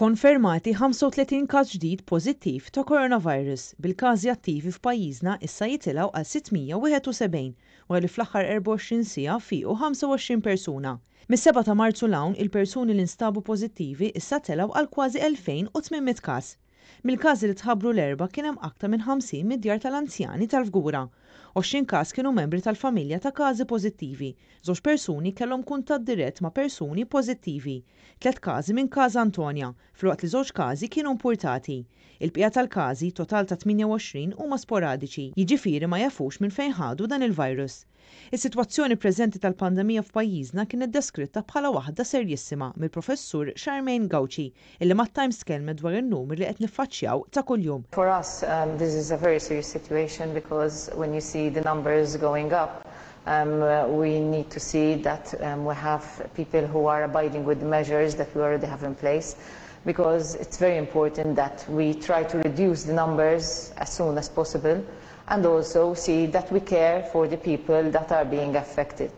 Konfermati 35 każ ġdid pożittiv ta' coronavirus, bil-każi attivi f'pajjiżna issa jitilgħu għal 671 wara li fl-aħħar 24 siegħa fiequ 25 persuna. Mis-7 ta' Marzu 'l hawn, il-persuni li nstabu pożittivi issa telgħu għal kważi 2,800 każ. Mill-każi li tħabbru l-Erbgħa kien hemm aktar minn 50 mid-djar tal-anzjani tal-Fgura. 20 każ kienu membri tal-familja ta' każi pożittivi. Żewġ persuni kellhom kuntatt dirett ma' persuni pożittivi. Tliet każi minn Casa Antonia, filwaqt li żewġ każi kienu impurtati. Il-bqija tal-każi, total ta' 28, huma sporadiċi, jiġifieri ma jafux minn fejn ħadu dan il-virus. Is-sitwazzjoni preżenti tal-pandemija f'pajjiżna kienet deskritta bħala waħda serjissima mill-Professur Charmaine Gauci, illi mat-Times tkellmet dwar in-numri li qed niffaċċjaw ta' kuljum. For us, this is a very serious situation because when you see the numbers going up, we need to see that we have people who are abiding with the measures that we already have in place because it's very important that we try to reduce the numbers as soon as possible and also see that we care for the people that are being affected.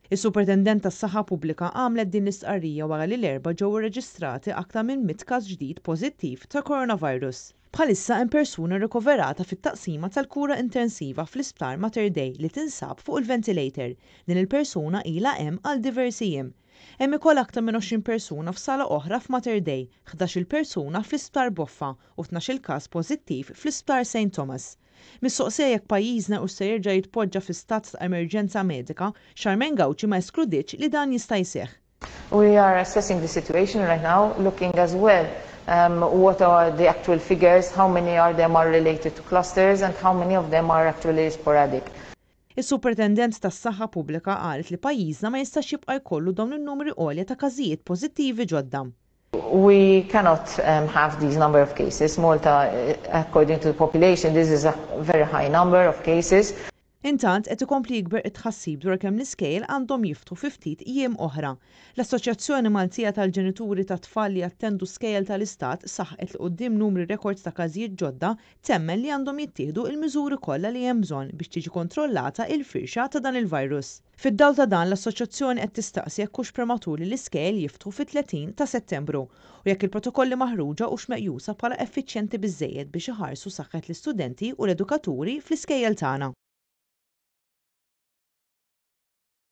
Is-Supretendent tas-Saħħa Pubblika għamlet din l-istqarrija wara li l-Erbgħa ġew irreġistrati aktar minn 100 każ ġdid pożittiv ta' coronavirus. Bħalissa hemm persuna rikoverata fit-taqsima tal-kura intensiva fl-Isptar Mater Dei li tinsab fuq il-ventilator. Din il-persuna ilha hemm għal diversi jiem. Hemm ukoll aktar minn 20 persuna f'sala oħra f'Mater Dei, 11-il persuna fl-Isptar Boffa u 12-il każ pożittiv fl-Isptar St Thomas. Mistoqsija jekk pajjiżna hux se jerġa' jitpoġġa fi stat ta' emerġenza medika, Charmaine Gauci ma eskludietx li dan jista' jseħħ. We are assessing the situation right now, looking as well what are the actual figures, how many are them are related to clusters and how many of them are actually sporadic. Is-Supretendent tas-Saħħa Pubblika qalet li pajjiżna ma jistax jibqa' jkollu dawn in-numri għolja ta' każijiet pożittivi ġodda. We cannot have these number of cases. Malta, according to the population, this is a very high number of cases. Intant, qed ikompli jikber it-tħassib dwar kemm l-iskejjel għandhom jiftħu fi ftit jiem oħra. L-Assoċjazzjoni Maltija tal-Ġenituri ta' Tfal li jattendu Skejjel tal-Istat saħqet li quddiem numri rekord ta' każijiet ġodda temmen li għandhom jittieħdu il-miżuri kollha li hemm bżonn biex tiġi kontrollata il-firxa ta' dan il-virus. Fid-dawl ta' dan l-assoċjazzjoni qed tistaqsi jekk hux prematur li l-iskejjel jiftħu fit-30 ta' Settembru u jekk il-protokolli maħruġa hux meqjusa bħala effiċjenti biżżejjed biex iħarsu saħħet l-istudenti u l-edukaturi fl-iskejjel tagħna.